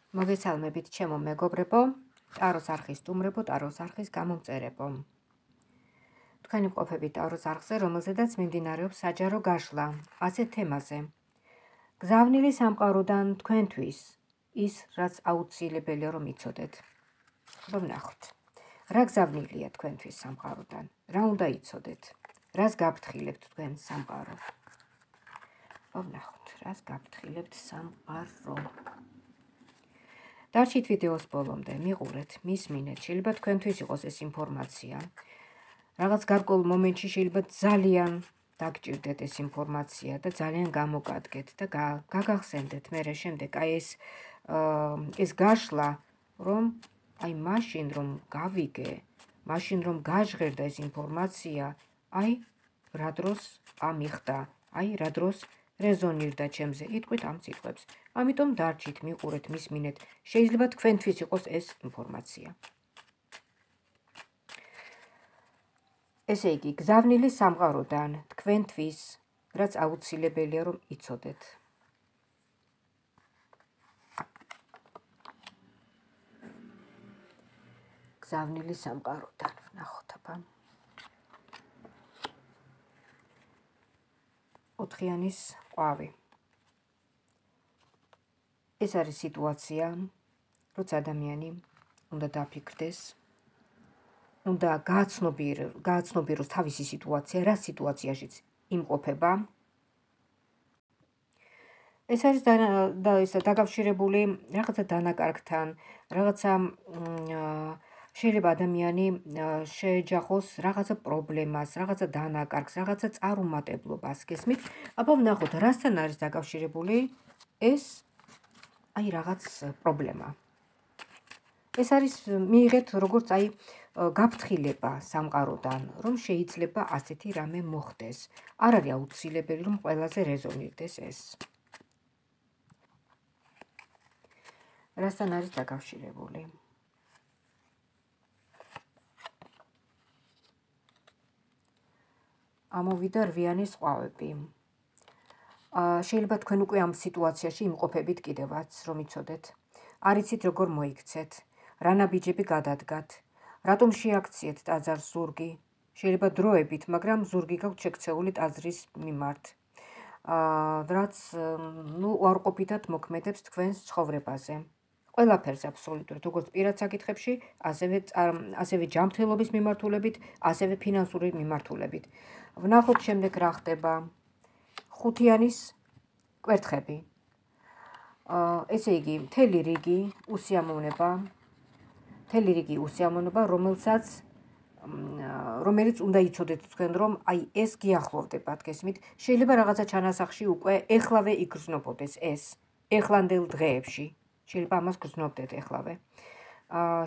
მოგესალმებით ჩემო მეგობრებო, ტაროს არხის სტუმრებო, ტაროს არხის გამომწერებო. თქვენი მყოფებით ტაროს არხზე, რომელზედაც მიმდინარეობს საჯარო გაშლა, ასეთ თემაზე. გზავნილი სამყაროდან თქვენთვის, ის, რაც აუცილებელია რომ იცოდეთ. ვნახოთ. რა გზავნილია თქვენთვის სამყაროდან? რა უნდა იცოდეთ? რას გაფრთხილებთ თქვენ სამყარო? ვნახოთ, რას გაფრთხილებთ სამყარო? დარჩით ვიდეოს ბოლომდე, მიყურეთ, მისმინეთ, შეიძლება თქვენთვის იყოს ეს ინფორმაცია. რაღაც გარკვეულ მომენტში შეიძლება ძალიან დაგჭირდეთ ეს ინფორმაცია და ძალიან გამოგადგეთ და გაგახსენდეთ მერე შემდეგ აი ეს გაშლა, რომ აი მაშინ რომ გავიგე, მაშინ რომ გაჟღერდა ეს ინფორმაცია, აი რა დროს ამიხდა, აი რა დროს რეზონირდა ჩემზე, იტყვით ამ სიტყვებს. ამიტომ დარჩით, მიყურეთ, მისმინეთ, შეიძლება თქვენთვის იყოს ეს ინფორმაცია. ესე იგი, გზავნილი სამყაროდან თქვენთვის, რაც აუცილებელია რომ იცოდეთ. გზავნილი სამყაროდან, ვნახოთ აბა. ოთხიანის ყვავი. ეს არის სიტუაცია, როცა ადამიანი უნდა დაფიქრდეს, უნდა გააცნობიეროს თავისი სიტუაცია, რა სიტუაციაშიც იმყოფება. ეს არის დაკავშირებული რაღაცა დანაკარგთან, რაღაცა შეიძლება ადამიანი შეეჯახოს რაღაცა პრობლემას, რაღაცა დანაკარგს, რაღაცა წარუმატებლობას, გესმით? აბა ვნახოთ, რასთან არის დაკავშირებული ეს აი რაღაც პრობლემა. ეს არის მიიღეთ როგორც აი გაფრთხილება სამყაროდან, რომ შეიძლება ასეთი რამე მოხდეს. არ არის აუცილებელი რომ ყველაზე რეზონირდეს ეს. რასთან არის დაკავშირებული? ამოვიდა რვიანის ყვავები. შეიძლება თქვენ უკვე ამ სიტუაციაში იმყოფებით კიდევაც, რომ იცოდეთ. არ იცით როგორ მოიქცეთ, რა ნაბიჯები გადადგათ, რატომ შეაქციეთ ტაძარს ზურგი, შეიძლება დროებით, მაგრამ ზურგი გაქვთ შექცეული ტაძრის მიმართ. რაც უარყოფითად მოქმედებს თქვენს ცხოვრებაზე. ყველაფერს აბსოლუტურად, როგორც პირად საკითხებში, ასევე ჯანმრთელობის მიმართულებით, ასევე ფინანსური მიმართულებით. ვნახოთ შემდეგ რა ხდება. ხუთიანის კვერთხები. ესე იგი, მთელი რიგი უსიამოვნება, რომელიც უნდა იცოდეთ თქვენ, რომ აი ეს გიახლოვდებათ, გესმით? შეიძლება რაღაცა ჩანასახში უკვე ეხლავე იგრძნობოდეს ეს, ეხლანდელ დღეებში. შეიძლება ამას გრძნობდეთ ეხლავე.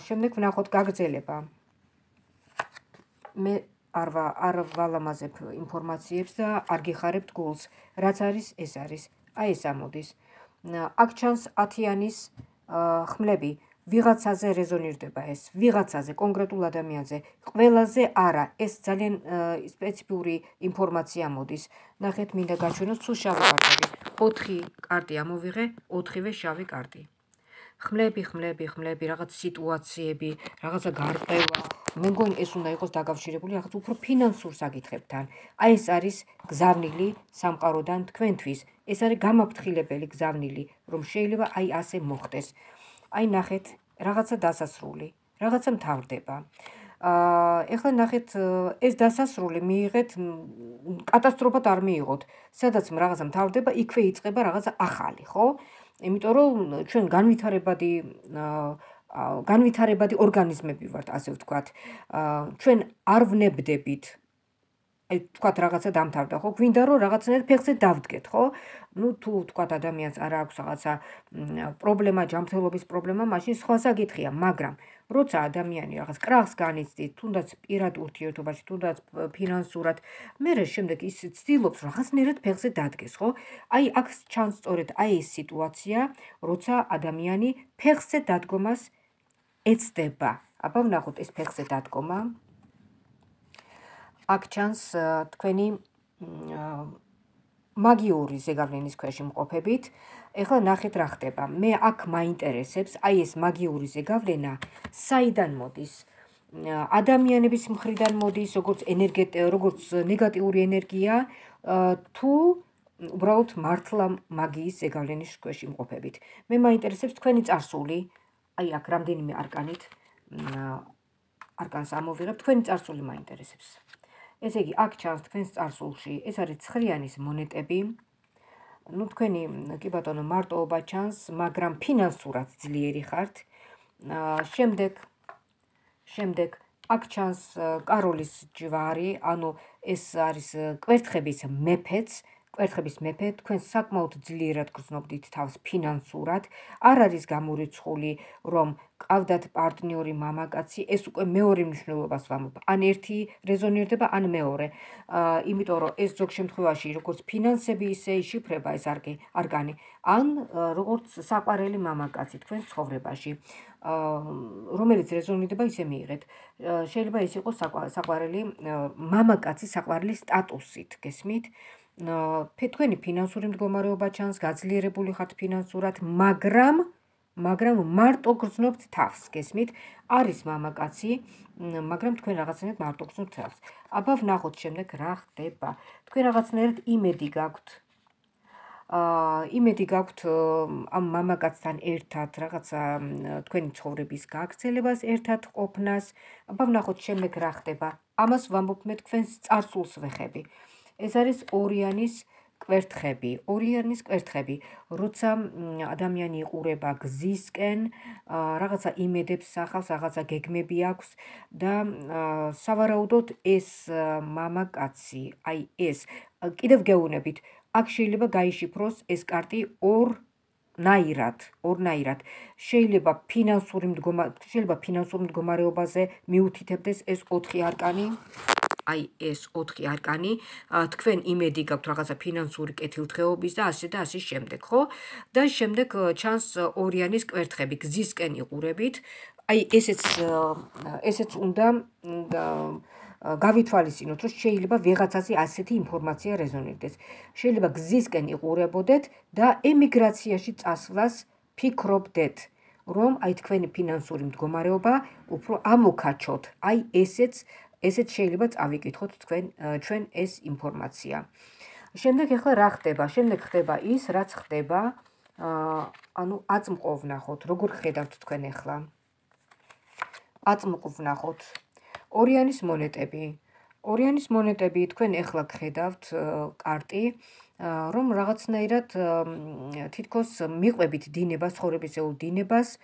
შემდეგ ვნახოთ გაგრძელება. მე არ ვალამაზებ ინფორმაციებს და არ გიხარებთ გულს. რაც არის, ეს არის. აი ეს ამოდის. აქ ჩანს 10-იანის ხმლები. ვიღაცაზე რეზონირდება ეს, ვიღაცაზე, კონკრეტულ ადამიანზე. ყველაზე არა, ეს ძალიან სპეციფიური ინფორმაცია მოდის. ნახეთ, მინდა გაჩვენოთ სულ შავი კარტები. 4 კარტი ამოვიღე, 4-ვე შავი კარტი. ხმლები, რაღაც სიტუაციები, რაღაცა გარყევა. მე მგონი ეს უნდა იყოს დაკავშირებული რაღაც უფრო ფინანსურ საკითხებთან. აი ეს არის გზავნილი სამყაროდან თქვენთვის. ეს არის გამაფრთხილებელი გზავნილი, რომ შეიძლება აი ასე მოხდეს. აი ნახეთ, რაღაცა დასასრული, რაღაცა მთავრდება. ეხლა ნახეთ, ეს დასასრული მიიღეთ, კატასტროფად არ მიიღოთ. სადაც რაღაცა მთავრდება, იქვე იწყება რაღაცა ახალი, ხო? იმიტომ რომ ჩვენ განვითარებადი ორგანიზმები ვართ, ასე ვთქვათ. ჩვენ არ ვნებდებით, აი ვთქვათ რაღაცა დამთავრდა, ხო? გვინდა რომ რაღაცნაირად ფეხზე დავდგეთ, ხო? თუ ვთქვათ ადამიანს არ აქვს რაღაცა პრობლემა, ჯანმრთელობის პრობლემა, მაშინ სხვა საკითხია, მაგრამ როცა ადამიანი რაღაც კრახს განიცდით, თუნდაც პირად ურთიერთობაში, თუნდაც ფინანსურად, მერე შემდეგ ის ცდილობს რაღაცნაირად ფეხზე დადგეს, ხო? აი აქ ჩანს სწორედ აი ეს სიტუაცია, როცა ადამიანი ფეხზე დადგომას ეცდება. აბა ვნახოთ ეს ფეხზე დადგომა. აქ ჩანს თქვენი მაგიური ზეგავლენის ქვეშ იმყოფებით. ეხლა ნახეთ რა ხდება. მე აქ მაინტერესებს აი ეს მაგიური ზეგავლენა საიდან მოდის? ადამიანების მხრიდან მოდის, როგორც ნეგატიური ენერგია, თუ უბრალოდ მართლა მაგიის ზეგავლენის ქვეშ იმყოფებით. მე მაინტერესებს თქვენი წარსული, აი აქ რამდენიმე არკანით არკანს ამოვიღებ, თქვენი წარსული მაინტერესებს. ესე იგი, აქ ჩანს თქვენს წარსულში, ეს არის ცხრიანის მონეტები. ნუ თქვენი კი ბატონო მარტოობა ჩანს, მაგრამ ფინანსურად ძლიერი ხართ. შემდეგ აქ ჩანს კაროლის ჯვარი, ანუ ეს არის კვერთხების მეფეც, თქვენ საკმაოდ ძლიერად გრძნობდით თავს ფინანსურად, არ არის გამორიცხული, რომ ყავდათ პარტნიორი მამაკაცი, ეს უკვე მეორე მნიშვნელობას ვამბობ, ან ერთი რეზონირდება, ან მეორე, იმიტომ რომ ეს ზოგ შემთხვევაში როგორც ფინანსები, ისე იშიფრება ეს არკანი, ან როგორც საყვარელი მამაკაცი თქვენს ცხოვრებაში, რომელიც რეზონირდება, ისე მიიღეთ. შეიძლება ეს იყოს საყვარელი მამაკაცის საყვარელი სტატუსით, გესმით? თქვენი ფინანსური მდგომარეობა ჩანს, გაძლიერებული ხართ ფინანსურად, მაგრამ მარტო გრძნობთ თავს, გესმით? არის მამაკაცი, მაგრამ თქვენ რაღაცნაირად მარტო გრძნობთ თავს. აბა ვნახოთ შემდეგ რა ხდება. თქვენ რაღაცნაირად იმედი გაქვთ ამ მამაკაცთან ერთად რაღაცა თქვენი ცხოვრების გაგრძელებას, ერთად ყოფნას. აბა ვნახოთ შემდეგ რა ხდება. ამას ვამბობ მე თქვენს წარსულს ვეხები. ეს არის ორიანის კვერთხები, როცა ადამიანი იყურება გზისკენ, რაღაცა იმედებს სახავს, რაღაცა გეგმები აქვს და სავარაუდოდ ეს მამაკაცი, აი ეს, კიდევ გეუბნებით, აქ შეიძლება გაიშიფროს ეს კარტი ორნაირად. შეიძლება ფინანსურ მდგომარეობაზე მიუთითებდეს ეს 4 არკანი. აი ეს 4 არკანი, თქვენ იმედი გაქვთ რაღაცა ფინანსური კეთილდღეობის და ასე შემდეგ, ხო? და შემდეგ ჩანს ორიანის კვერთხები, გზისკენ იყურებით. აი ესეც უნდა გავითვალისწინოთ, რომ შეიძლება ვიღაცაზე ასეთი ინფორმაცია რეზონირდეს. შეიძლება გზისკენ იყურებოდეთ და ემიგრაციაში წასვლას ფიქრობდეთ, რომ აი თქვენი ფინანსური მდგომარეობა უფრო ამოქაჩოთ. აი ესეც შეიძლება წავიკითხოთ ჩვენ ეს ინფორმაცია. შემდეგ ახლა რა ხდება? შემდეგ ხდება ის, რაც ხდება, ანუ აწმყო ვნახოთ, როგორ ხედავთ თქვენ ახლა. აწმყო ვნახოთ. ორიანის მონეტები, თქვენ ახლა გხედავთ კარტი, რომ რაღაცნაირად თითქოს მიყვებით დინებას, ცხოვრებისეულ დინებას,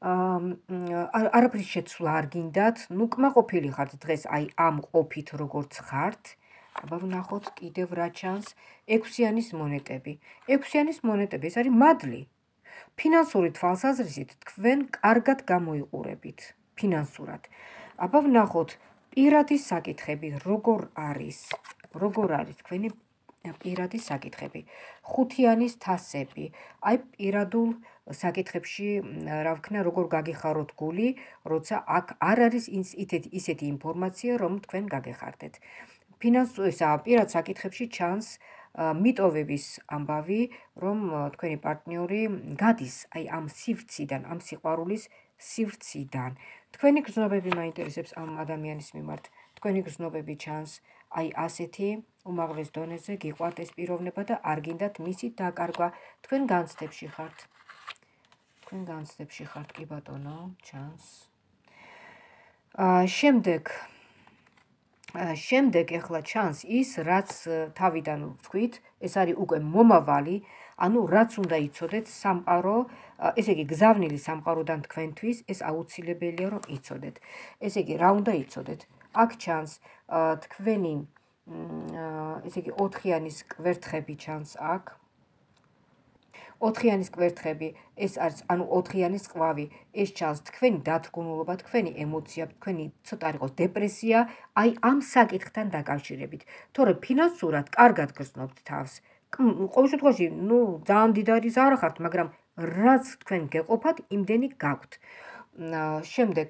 არაფრის შეცვლა არ გინდათ, ნუ კმაყოფილი ხართ დღეს აი ამ ყოფით როგორც ხართ. აბა ვნახოთ კიდევ რა ჩანს. 6-იანის მონეტები. 6-იანის მონეტები, ეს არის მადლი. ფინანსური თვალსაზრისით თქვენ კარგად გამოიყურებით ფინანსურად. აბა ვნახოთ პირადი საკითხები, როგორ არის თქვენი პირადი საკითხები. 5-იანის თასები. აი პირადულ საკითხებში, რა ვქნა, როგორ გაგეხაროთ გული, როცა აქ არ არის ისეთი ინფორმაცია, რომ თქვენ გაგეხარდეთ. პირად საკითხებში ჩანს მიტოვების ამბავი, რომ თქვენი პარტნიორი გადის აი ამ სივრციდან, ამ სიყვარულის სივრციდან. თქვენი გრძნობები მაინტერესებს ამ ადამიანის მიმართ. თქვენი გრძნობები ჩანს აი ასეთი უმაღლეს დონეზე, გიყვართ ეს პიროვნება და არ გინდათ მისი დაკარგვა. თქვენ განცდებში ხართ, კი ბატონო, ჩანს. შემდეგ ახლა ჩანს ის, რაც თავიდან ვთქვით, ეს არის უკვე მომავალი, ანუ რაც უნდა იცოდეთ სამყარო, ესე იგი გზავნილი სამყაროდან თქვენთვის, ეს აუცილებელია რომ იცოდეთ. ესე იგი რა უნდა იცოდეთ? აქ ჩანს თქვენი, ესე იგი 4-იანის კვერთხები ჩანს აქ. 4-იანის კვერთხები, ეს არის, ანუ 4-იანის ყვავი, ეს ჩანს თქვენი დათრგუნულობა, თქვენი ემოცია, თქვენი ცოტა არ იყოს დეპრესია, აი ამ საკითხთან დაკავშირებით. თორე ფინანსურად კარგად გრძნობთ თავს. ყოველ შემთხვევაში, ნუ ძალიან დიდარი ზარა ხართ, მაგრამ რაც თქვენ გეყოფათ, იმდენი გაქვთ. შემდეგ,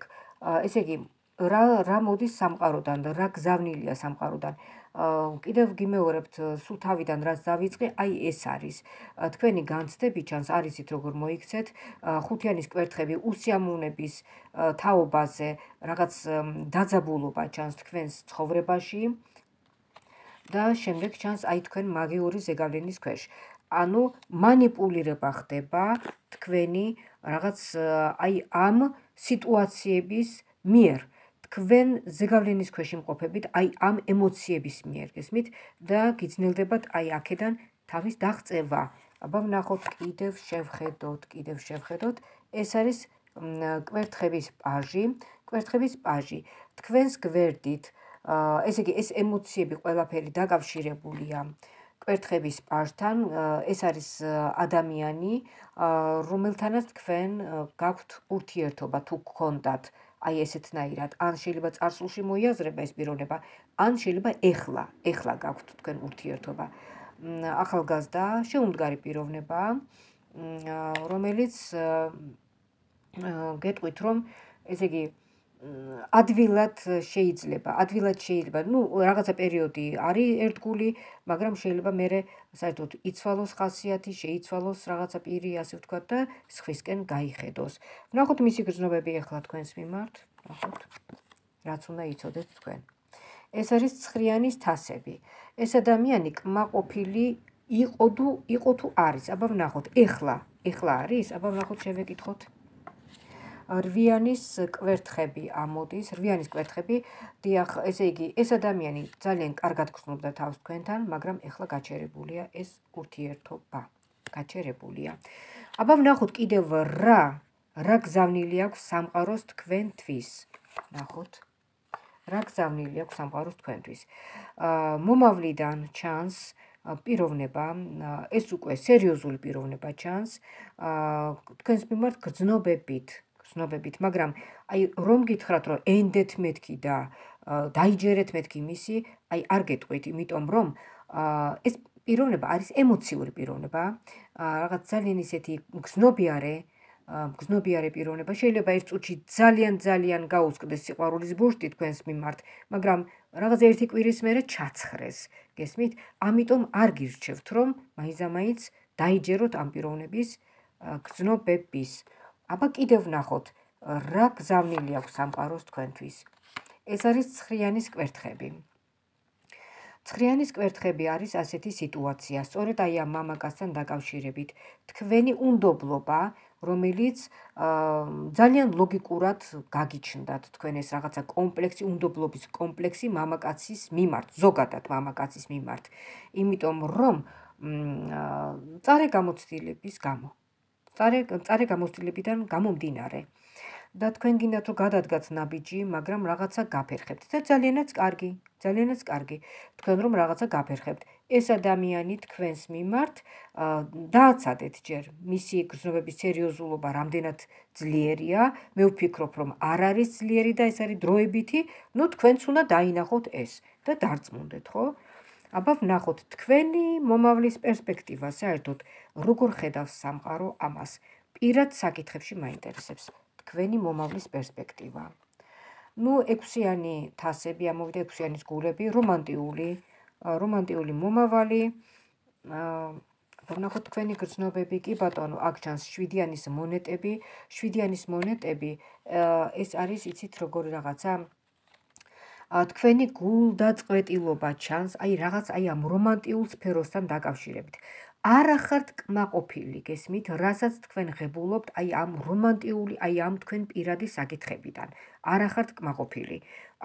ესე იგი, რა მოდის სამყაროდან და რა გზავნილია სამყაროდან. კიდევ გიმეორებთ სულ თავიდან რაც დავიწყე, აი ეს არის თქვენი განცდები ჩანს არ იცით როგორ მოიქცეთ ხუთიანის კვერთხები უსიამოვნების თაობაზე რაღაც დაძაბულობა ჩანს თქვენს ცხოვრებაში და შემდეგ ჩანს აი თქვენ მაგიური ზეგავლენის ქვეშ. ანუ манипулირება ხდება თქვენი რაღაც აი ამ სიტუაციების მიერ. თქვენ ზეგავლენის ქვეშ იმყოფებით აი ამ ემოციების მიერ, გესმით? და გიძნელდებათ აი აქედან თავის დაღწევა. აბა ვნახოთ კიდევ შევხედოთ. ეს არის კვერთხების პაჟი. კვერთხების პაჟი. თქვენს გვერდით ესე იგი ეს ემოციები ყველაფერი დაკავშირებულია კვერთხების პაჟთან. ეს არის ადამიანი, რომელთანაც თქვენ გაქვთ ურთიერთობა თუ გქონდათ აი ესეთნაირად. ან შეიძლება წარსულში მოიაზრება ეს პიროვნება, ან შეიძლება ეხლა გაქვთ თქვენ ურთიერთობა. ახალგაზრდა, შეუმდგარი პიროვნება, რომელიც გეტყვით რომ ესე იგი ადვილად შეიძლება, ნუ რაღაცა პერიოდი არის ერთგული, მაგრამ შეიძლება მერე საერთოდ იცვალოს ხასიათი, შეიცვალოს რაღაცა პირი, ასე ვთქვათ და სხვისკენ გაიხედოს. ვნახოთ მისი გრძნობები ახლა თქვენს მიმართ, ვნახოთ, რაც უნდა იცოდეთ თქვენ. ეს არის ცხრიანის თასები. ეს ადამიანი კმაყოფილი იყო თუ არის. აბა ვნახოთ, ეხლა არის? აბა ვნახოთ, შევეკითხოთ. რვიანის კვერთხები ამოდის, რვიანის კვერთხები, დიახ, ესე იგი, ეს ადამიანი ძალიან კარგად გრძნობდა თავს თქვენთან, მაგრამ ეხლა გაჩერებულია ეს ურთიერთობა. გაჩერებულია. აბა ვნახოთ კიდევ რა გზავნილი აქვს სამყაროს თქვენთვის. ვნახოთ. რა გზავნილი აქვს სამყაროს თქვენთვის. მომავლიდან ჩანს პიროვნება, ეს უკვე სერიოზული პიროვნება ჩანს, თქვენს მიმართ გრძნობებით, მაგრამ აი რომ გითხრათ რომ ენდეთ მეთქი და დაიჯერეთ მეთქი მისი, აი არ გეტყვით, იმიტომ რომ ეს პიროვნება არის ემოციური პიროვნება, რაღაც ძალიან ისეთი გრძნობიარე პიროვნება, შეიძლება ერთ წუთში ძალიან გაუსკდეს სიყვარულის ბურთი თქვენს მიმართ, მაგრამ რაღაც ერთი კვირის მერე ჩაცხრეს, გესმით? ამიტომ არ გირჩევთ რომ მაინც დაიჯეროთ ამ პიროვნების გრძნობების. აბა კიდევ ვნახოთ, რა გზავნილი აქვს სამყაროს თქვენთვის. ეს არის ცხრიანის კვერთხები. ცხრიანის კვერთხები არის ასეთი სიტუაცია, სწორედ აი ამ მამაკაცთან დაკავშირებით. თქვენი უნდობლობა, რომელიც ძალიან ლოგიკურად გაგიჩნდათ თქვენ ეს რაღაცა კომპლექსი, უნდობლობის კომპლექსი მამაკაცის მიმართ, ზოგადად მამაკაცის მიმართ. იმიტომ რომ მწარე გამოცდილებიდან გამომდინარე და თქვენ გინდათ რომ გადადგათ ნაბიჯი, მაგრამ რაღაცა გაფერხებთ და ძალიანაც კარგი თქვენ რომ რაღაცა გაფერხებთ. ეს ადამიანი თქვენს მიმართ დააცადეთ ჯერ მისი გრძნობების სერიოზულობა რამდენად ძლიერია, მე ვფიქრობ რომ არ არის ძლიერი და ეს არის დროებითი, ნუ თქვენც უნდა დაინახოთ ეს და დარწმუნდეთ, ხო? აბა ვნახოთ თქვენი მომავლის პერსპექტივა, საერთოდ როგორ ხედავს სამყარო ამას. პირად საკითხებში მაინტერესებს თქვენი მომავლის პერსპექტივა. ნუ ექვსიანი თასები ამოვიდა, ექვსიანის გულები, რომანტიული მომავალი. ვნახოთ თქვენი გრძნობები, კი ბატონო, აქ ჩანს 7-იანის მონეტები. 7-იანის მონეტები ეს არის, იცით როგორი რაღაცა, თქვენი გულდაწყვეტილობა ჩანს, აი რაღაც აი ამ რომანტიულ სფეროსთან დაკავშირებით. არ ახართ კმაყოფილი, გესმით, რასაც თქვენ ღებულობთ აი ამ რომანტიული, აი ამ თქვენ პირადი საკითხებიდან. არ ახართ კმაყოფილი.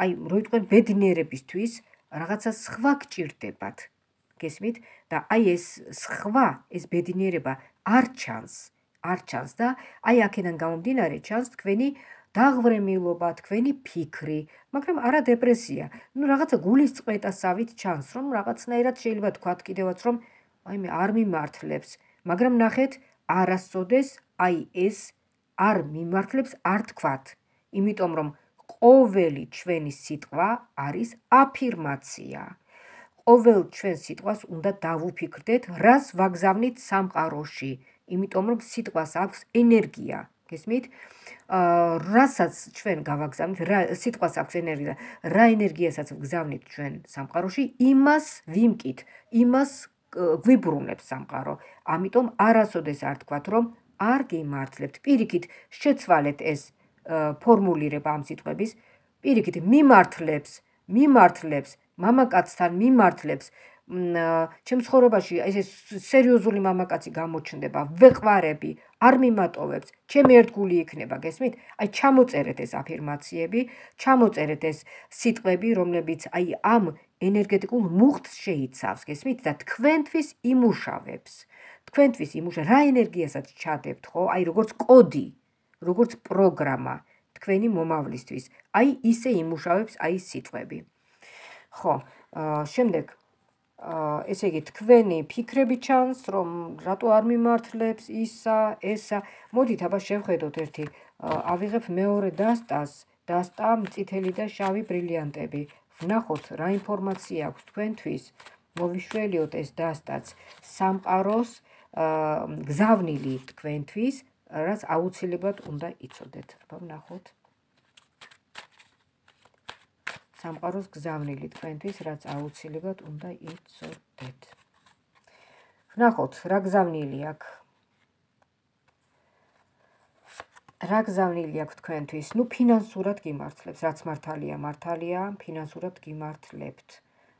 აი რო თქვენ ბედნიერებისთვის რაღაცა სხვა გჭირდებათ, გესმით? და აი ეს სხვა, ეს ბედნიერება არ ჩანს და აი აქედან გამომდინარე ჩანს თქვენი დაღვრემილობა, თქვენი ფიქრი, მაგრამ არა დეპრესია. ნუ რაღაცა გულის წყვეტასავით ჩანს, რომ რაღაცნაირად შეიძლება თქვათ კიდევაც, რომ აი მე არ მიმართლებს, მაგრამ ნახეთ, არასოდეს აი ეს არ მიმართლებს არ თქვათ, იმიტომ რომ ყოველი ჩვენი სიტყვა არის აფირმაცია. ყოველ ჩვენს სიტყვას უნდა დავუფიქრდეთ, რას ვაგზავნით სამყაროში, იმიტომ რომ სიტყვას აქვს ენერგია, გესმით? რასაც ჩვენ გავაგზავნით, სიტყვას აქვს ენერგია, რა ენერგიასაც ვგზავნით ჩვენ სამყაროში, იმას ვიმკით, იმას გვიბრუნებს სამყარო. ამიტომ არასოდეს არ თქვათ, რომ არ გიმართლებთ. პირიქით შეცვალეთ ეს ფორმულირება ამ სიტყვების, პირიქით მიმართლებს მამაკაცთან მიმართლებს ჩემ ცხოვრებაში ესე სერიოზული მამაკაცი გამოჩნდება, ვეყვარები, არ მიმატოვებს, ჩემი ერთგული იქნება, გესმით? აი ჩამოწერეთ ეს აფირმაციები, ჩამოწერეთ ეს სიტყვები, რომლებიც აი ამ ენერგეტიკულ მუხტს შეიცავს, გესმით? და თქვენთვის იმუშავებს. თქვენთვის რა ენერგიასაც ჩადებთ, ხო? აი როგორც კოდი, როგორც პროგრამა თქვენი მომავლისთვის. აი ისე იმუშავებს აი სიტყვები. ხო, შემდეგ ესე იგი თქვენი ფიქრები ჩანს, რომ რატო არ მიმართლებს ესა. მოდით აბა შევხედოთ ერთი, ავიღებ მეორე დასტა წითელი და შავი ბრილიანტები. ვნახოთ რა ინფორმაცია აქვს თქვენთვის, მოვიშველიოთ ეს დასტაც სამყაროს გზავნილი თქვენთვის, რაც აუცილებლად უნდა იცოდეთ. აბა ვნახოთ. სამყაროს გზავნილი თქვენთვის, რაც აუცილებლად უნდა იცოდეთ. ვნახოთ, რა გზავნილი აქვს. რა გზავნილი აქვს თქვენთვის? ნუ ფინანსურად გიმართლებს, რაც მართალია, ფინანსურად გიმართლებთ.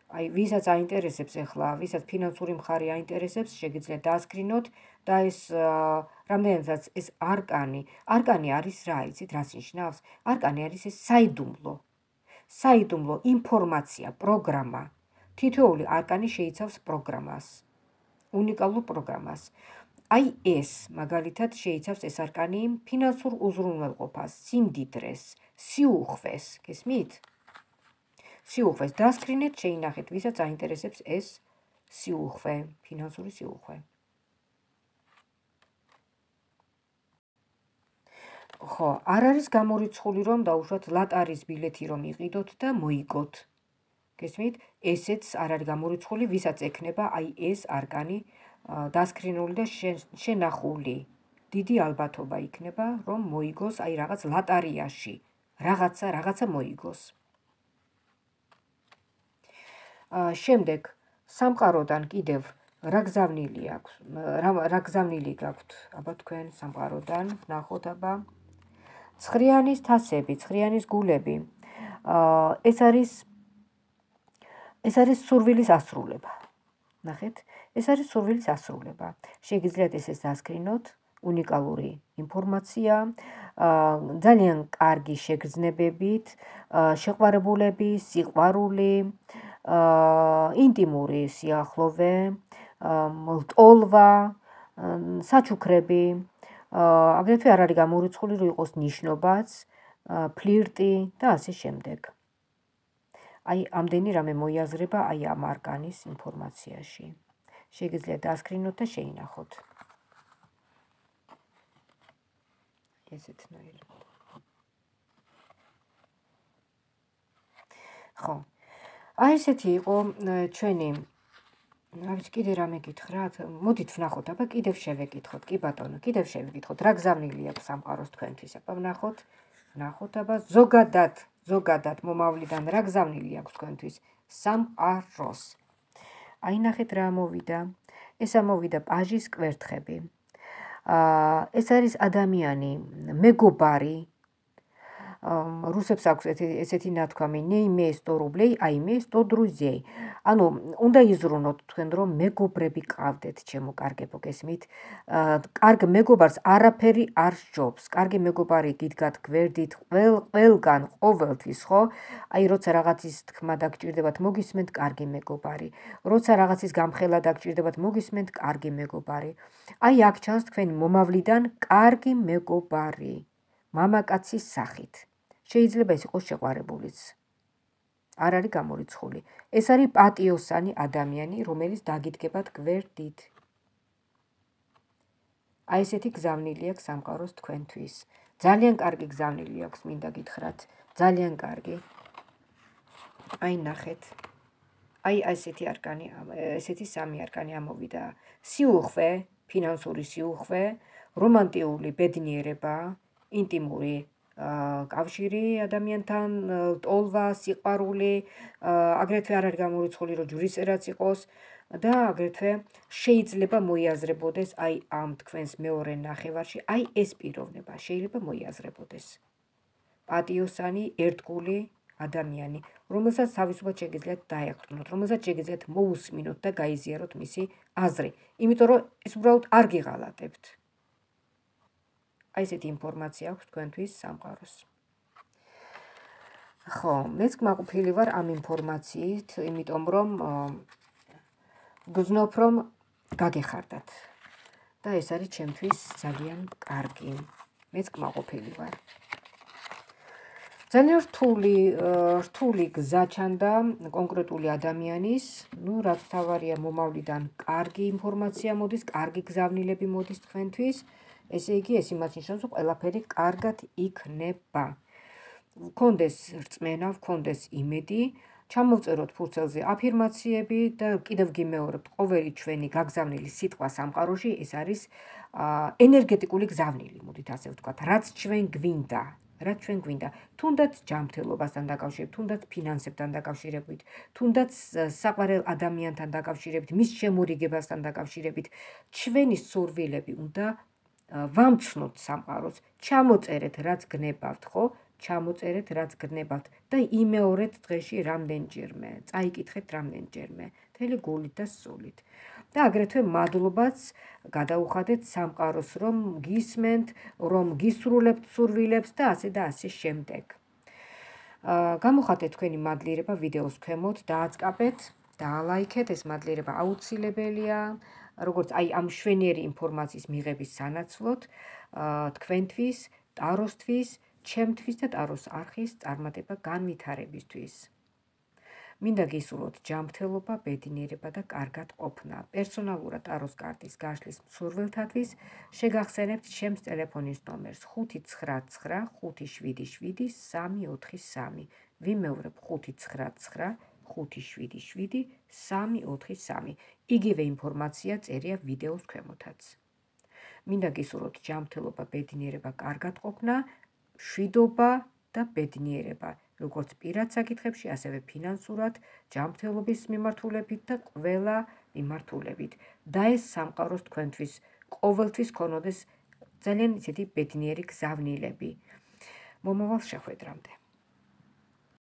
აი, ვისაც აინტერესებს ახლა, ვისაც ფინანსური მხარე აინტერესებს, შეგიძლიათ დაასკრინოთ და ეს რამდენადაც ეს არკანი არის რა, იცით, რას ნიშნავს? არკანი არის ეს საიდუმლო ინფორმაცია, პროგრამა. თითოეული არკანი შეიცავს პროგრამას, უნიკალურ პროგრამას. აი ეს, მაგალითად, შეიცავს ეს არკანი ფინანსურ უზრუნველყოფას, სიმდიდრეს, სიუხვეს, გესმით? სიუხვეს დასკრინეთ, შეინახეთ, ვისაც აინტერესებს ეს სიუხვე, ფინანსური სიუხვე. ხო, არ არის გამორიცხული, რომ დაუშვათ ლატარის ბილეთი რომ იყიდოთ და მოიგოთ. გესმით? ესეც არ არის გამორიცხული, ვისაც ექნება აი ეს არკანი დასკრინული და შენახული. დიდი ალბათობა იქნება, რომ მოიგოს აი რაღაც ლატარიაში, რაღაცა მოიგოს. შემდეგ სამყაროდან კიდევ რა გზავნილი აქვს? რა გზავნილი გაქვთ? აბა თქვენ სამყაროდან, ნახოთ აბა. ცხრიანის თასები, ცხრიანის გულები. ეს არის სურვილის ასრულება. ნახეთ, ეს არის სურვილის ასრულება. შეგიძლიათ ესეც დასკრინოთ, უნიკალური ინფორმაცია, ძალიან კარგი შეგრძნებებით, შეყვარებულები, სიყვარული, ინტიმური სიახლოვე, ტოლვა, საჩუქრები. აგრეთვე არ არის გამორიცხული, რომ იყოს ნიშნობაც, ფლირტი და ასე შემდეგ. აი, ამდენი რამე მოიაზრება აი ამ არკანის ინფორმაციაში. შეგიძლიათ დასკრინოთ და შეინახოთ. ესეთნაირად. ხო. აი ესეთი იყო ჩვენი რა ვიცი, კიდე რამე გითხრათ? მოდით ვნახოთ, აბა კიდევ შევეკითხოთ, კი ბატონო, კიდევ შევეკითხოთ, რა გზავნილი აქვს სამყაროს თქვენთვის? აბა ვნახოთ, აბა ზოგადად მომავლიდან რა გზავნილი აქვს თქვენთვის სამყაროს? აი ნახეთ რა ამოვიდა. ეს ამოვიდა პაჟის კვერთხები. ეს არის ადამიანი, მეგობარი. რუსებს აქვს ესეთი ნათქვამი, не имей 100 рублей, а имей 100 друзей. ანუ უნდა იზრუნოთ თქვენ, რომ მეგობრები ყავდეთ, ჩემო კარგებო, გესმით? კარგ მეგობარს არაფერი არ სჯობს. კარგი მეგობარი გიდგათ გვერდით ყველგან, ყოველთვის, ხო? აი, როცა რაღაცის თქმა დაგჭირდებათ, მოგისმენთ კარგი მეგობარი. როცა რაღაცის გამხელა დაგჭირდებათ, მოგისმენთ კარგი მეგობარი. აი, აქ ჩანს თქვენი მომავლიდან კარგი მეგობარი. მამაკაცის სახით. შეიძლება ეს იყოს შეყვარებულიც. არ არის გამორიცხული. ეს არის პატიოსანი ადამიანი, რომელიც დაგიდგებათ გვერდით. აი ესეთი გზავნილი აქვს სამყაროს თქვენთვის. ძალიან კარგი გზავნილი აქვს, მინდა გითხრათ. ძალიან კარგი. აი ნახეთ. აი ესეთი სამი არკანი ამოვიდა. სიუხვე, ფინანსური სიუხვე, რომანტიული ბედნიერება, ინტიმური კავშირი ადამიანთან, ტოლვა, სიყვარული, აგრეთვე არ არის გამორიცხული, რომ ჯვრისერაც იყოს და აგრეთვე შეიძლება მოიაზრებოდეს აი ამ თქვენს მეორე ნახევარში, აი ეს პიროვნება შეიძლება მოიაზრებოდეს. პატიოსანი, ერთგული ადამიანი, რომელსაც თავისუფლად შეგიძლიათ დაეყრდნოთ, რომელსაც შეგიძლიათ მოусმინოთ და გაიზიაროთ მისი აზრი, იმიტომ რომ ეს უბრალოდ არ გიღალატებთ. აი ესეთი ინფორმაცია აქვს თქვენთვის სამყაროს. ხო, მეც კმაყოფილი ვარ ამ ინფორმაციით, იმიტომ რომ გრძნობ რომ გაგეხარდათ და ეს არის ჩემთვის ძალიან კარგი. მეც კმაყოფილი ვარ. ძალიან რთული გზა ჩანდა კონკრეტული ადამიანის, რაც თავარია მომავლიდან კარგი ინფორმაცია მოდის, კარგი გზავნილები მოდის თქვენთვის, ესე იგი ეს იმას ნიშნავს, რომ ყველაფერი კარგად იქნება. ვქონდეს რწმენა, ვქონდეს იმედი, ჩამოვწეროთ ფურცელზე აფირმაციები და კიდევ გიმეორებთ, ყოველი ჩვენი გაგზავნილი სიტყვა სამყაროში ეს არის ენერგეტიკული გზავნილი, მოდით ასე ვთქვათ, რაც ჩვენ გვინდა. რაც ჩვენ გვინდა, თუნდაც ჯანმრთელობასთან დაკავშირებით, თუნდაც ფინანსებთან დაკავშირებით, თუნდაც საყვარელ ადამიანთან დაკავშირებით, მის შემურიგებასთან დაკავშირებით, ჩვენი სურვილები უნდა ვამცნოთ სამყაროს, ჩამოწერეთ რაც გნებავთ, ხო? ჩამოწერეთ რაც გნებავთ და იმეორეთ დღეში რამდენჯერმე, წაიკითხეთ რამდენჯერმე, მთელი გულით და სულით. და აგრეთვე მადლობაც გადაუხადეთ სამყაროს, რომ გისმენთ, რომ გისრულებთ სურვილებს და ასე შემდეგ. გამოხატეთ თქვენი მადლიერება ვიდეოს ქვემოთ, დააწყაბეთ, დაალაიქეთ, ეს მადლიერება აუცილებელია, როგორც აი ამ მშვენიერი ინფორმაციის მიღების სანაცვლოდ, თქვენთვის, ტაროსთვის, ჩემთვის და ტაროს არხის წარმატება განვითარებისთვის. მინდა გისურვოთ ჯანმრთელობა, ბედნიერება და კარგად ყოფნა. პერსონალურად ტაროს კარტის გაშლის მსურველთათვის შეგახსენებთ ჩემს ტელეფონის ნომერს 599 577 343. ვიმეორებ 599 577 343. იგივე ინფორმაცია წერია ვიდეოს ქვემოთაც. მინდა გისურვოთ ჯანმრთელობა, ბედნიერება, კარგად ყოფნა, მშვიდობა და ბედნიერება. როგორც პირად საკითხებში, ასევე ფინანსურად, ჯანმრთელობის მიმართულებით და ყველა მიმართულებით. და ეს სამყაროს თქვენთვის ყოველთვის ქონოდეს ძალიან ისეთი ბედნიერი გზავნილები. მომავალ შეხვედრამდე.